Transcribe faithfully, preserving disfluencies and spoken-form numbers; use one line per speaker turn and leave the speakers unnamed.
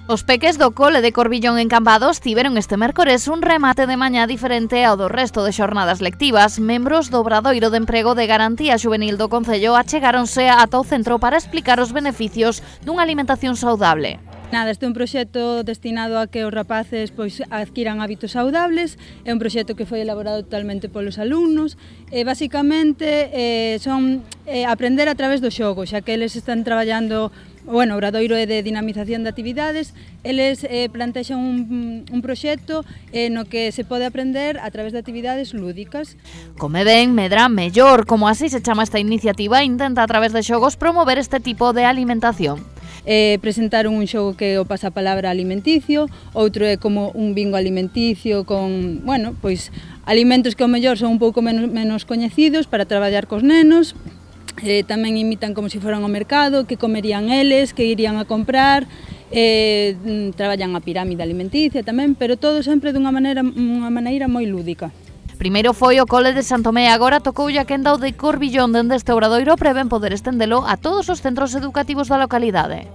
Os peques do cole de Corbillón en Cambados tiveron este mércores un remate de mañá diferente ao do resto de xornadas lectivas. Membros do Obradoiro de Emprego de Garantía Xuvenil do Concello achegáronse ata o centro para explicar os beneficios dunha alimentación saudable.
Nada, este é un proxecto destinado a que os rapaces pois, adquiran hábitos saudables. É un proxecto que foi elaborado totalmente polos alumnos e basicamente eh, son eh, aprender a través do xogo, xa que eles están traballando. Bueno, o Obradoiro é de dinamización de actividades, eles eh, plantexan un, un proxecto eh, no que se pode aprender a través de actividades lúdicas.
Come ben, medra mellor, como así se chama esta iniciativa, intenta a través de xogos promover este tipo de alimentación.
Eh, presentaron un xogo que é o pasapalabra alimenticio, outro é como un bingo alimenticio con, bueno, pois alimentos que ao mellor son un pouco menos, menos coñecidos para traballar cos nenos. Eh, tamén imitan como se foran ao mercado, que comerían eles, que irían a comprar, eh, traballan a pirámide alimenticia tamén, pero todo sempre dunha maneira, unha maneira moi lúdica.
Primeiro foi o cole de Santomé, agora tocoulle a quenda o de Corbillón, dende este Obradoiro prevén poder estendelo a todos os centros educativos da localidade.